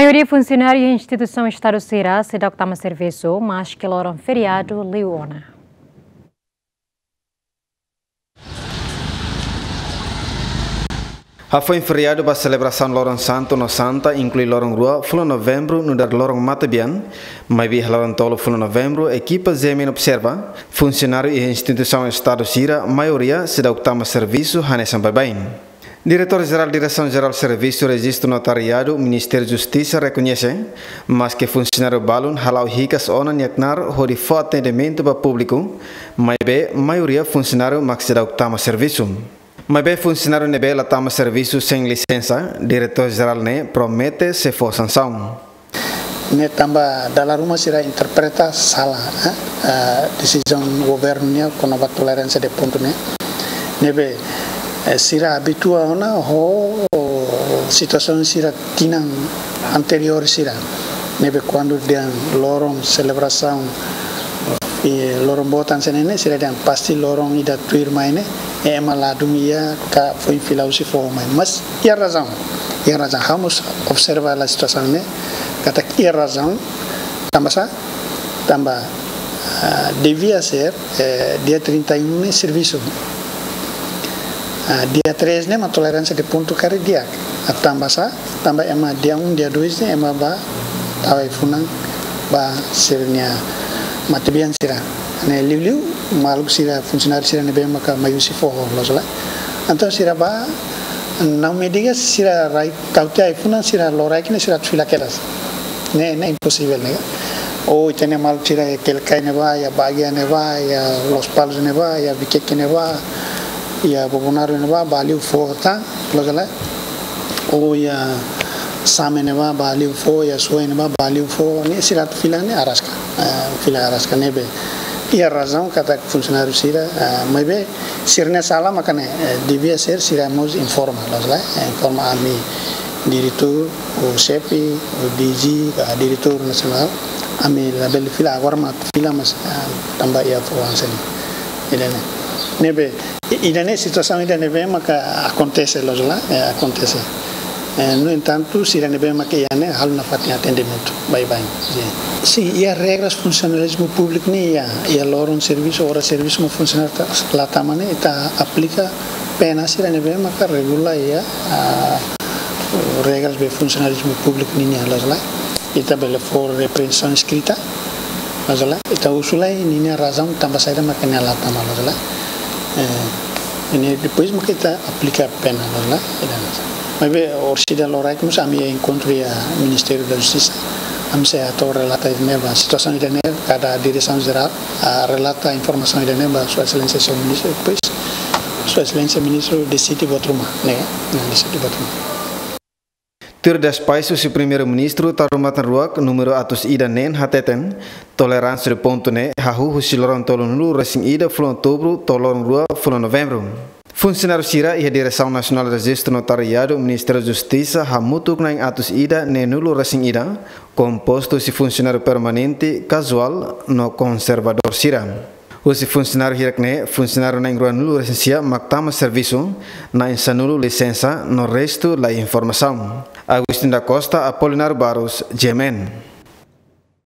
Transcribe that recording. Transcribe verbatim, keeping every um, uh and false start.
Maioria funsionáriu iha instituisaun Estadu sira seidauk tama servisu, maske loron feriadu liu ona. Hafoin feriadu ba selebrasaun Loron Santu no Santa, inklui loron rua fulan Novembru nu'udar loron matebian, maibé iha loron tolu fulan Novembru, ekipa G M N observa, funsionáriu iha instituisaun Estadu sira, maioria seidauk tama servisu hanesan baibain. Diretór Jerál Diresaun Jerál Servisu Rejistu Notariadu, Ministériu Justisa rekoñese, maske funsionáriu balun hala'o hikas ona nia knaar hodi fó atendimentu ba públiku, maibé maioria funsionáriu mak seidauk tama servisu. Maibé funsionáriu ne'ebé la tama servisu sein lisensa, Diretór Jerál ne'e promete sei fó sansaun. Ne'e tanba dala ruma sira interpreta sala, eh, eh, desizaun governu nian kona-ba toleránsia de pontu ne'e. Ne'ebé, eh, sira abitua ona ho situasaun sira tinan anteriór sira. Ne'ebé kuandu dehan loron selebrasaun, eh, loron boot hanesan ne'e, sira dehan pasti loron ida tuirmai ne'e, ema ladún iha ka foin fila husi foho mai. Mas iha razaun, iha razaun. Ha'u mós observa hela situasaun ne'e, katak iha razaun, tanba sá, tanba, ah, devia ser, eh, dia trinta e um ne'e servisu. Ah, dia três ne'e mak toleránsia de pontu karik di'ak. Ah, tanba sá, tanba ema dia um, dia dois ne'e ema bá tau ai-funan ba sira-nia matebian sira. Ne'e liuliu maluk sira, funsionáriu sira ne'ebé maka mai husi foho, loos ka lae. Entaun sira bá, não me diga sira rai tau tiha ai-funan, sira loraik ne'e sira atu fila kedas. Ne'e, ne'e imposivel ne'e. Ou ita-nia maluk sira iha Quelicai ne'ebá, iha Baguia ne'ebá, iha Lospalos ne'ebá, iha Viqueque ne'ebá, iha Bobonaro ne'ebá, bá liu foho tan, loos ka lae. Ou iha Same ne'ebá, bá liu foho, iha Suai ne'ebá, bá liu foho, ne'e sira atu fila ne'e araska, eh, fila araska ne'ebé. Iha razaun katak funsionáriu sira, eh, maibé sira-nia sala maka ne'e, eh, devia ser sira mós informa, loos ka lae, eh, informa ami diretór, ou xefe, ou D G, ka diretór nasionál, ami labele fila, agora mak atu fila, mas, ah, tanba iha foho hanesan ne'e. Ida-ne'e. Ne'ebé, i-, ida-ne'e situasaun ida ne'ebé maka akontese, loos ka lae, eh, akontese. Eh, no entantu, sira ne'ebé maka iha ne'e halo nafatin atendimentu baibain. Sin. Sin, iha regras funsionalizmu públiku nian iha, iha loron servisu, oras servisu mak funsionáriu ta-, la tama ne'e, ita aplika pena sira ne'ebé maka regula iha, ah, regras be funsionalizmu públiku nian, loos ka lae. Ita bele fó repreensaun eskrita, loos ka lae. Ita husu lai ninia razaun tanba saida maka nia la tama, loos ka lae. Eh, ne'e depois maka ita aplika pena, loos ka lae. Ida-ne'e. Maibé orsida loraik mós ami iha enkontru iha Ministériu da Justisa. Ami sei hato'o relata ida-ne'e ba situasaun ida-ne'e, kada diresaun jerál, ah, relata informasaun ida-ne'e ba Sua Exelénsia Señór Ministru, depois Sua Exelénsia Ministru deside buat ruma, ne'e, ne'e deside buat ruma. Tuir despaxu husi Primeiru-Ministru Taur Matan Ruak númeru atus ida neen hateten, toleránsia de pontu ne'e hahú husi loron tolunulu resin ida fulan Outubru to'o loron rua fulan Novembru. Funsionáriu sira iha Diresaun Nasionál Rejistu Notariadu Ministériu Justisa hamutuk na'in atus ida neenulu resin ida, kompostu husi funsionáriu permanente, kazuál no konservadór sira. Husi funsionáriu hirak ne'e, funsionáriu na'in ruanulu resin sia mak tama servisu, na'in sanulu lisensa, no restu la iha informasaun. Agostinho da Costa, Apolinário Barros, G M N.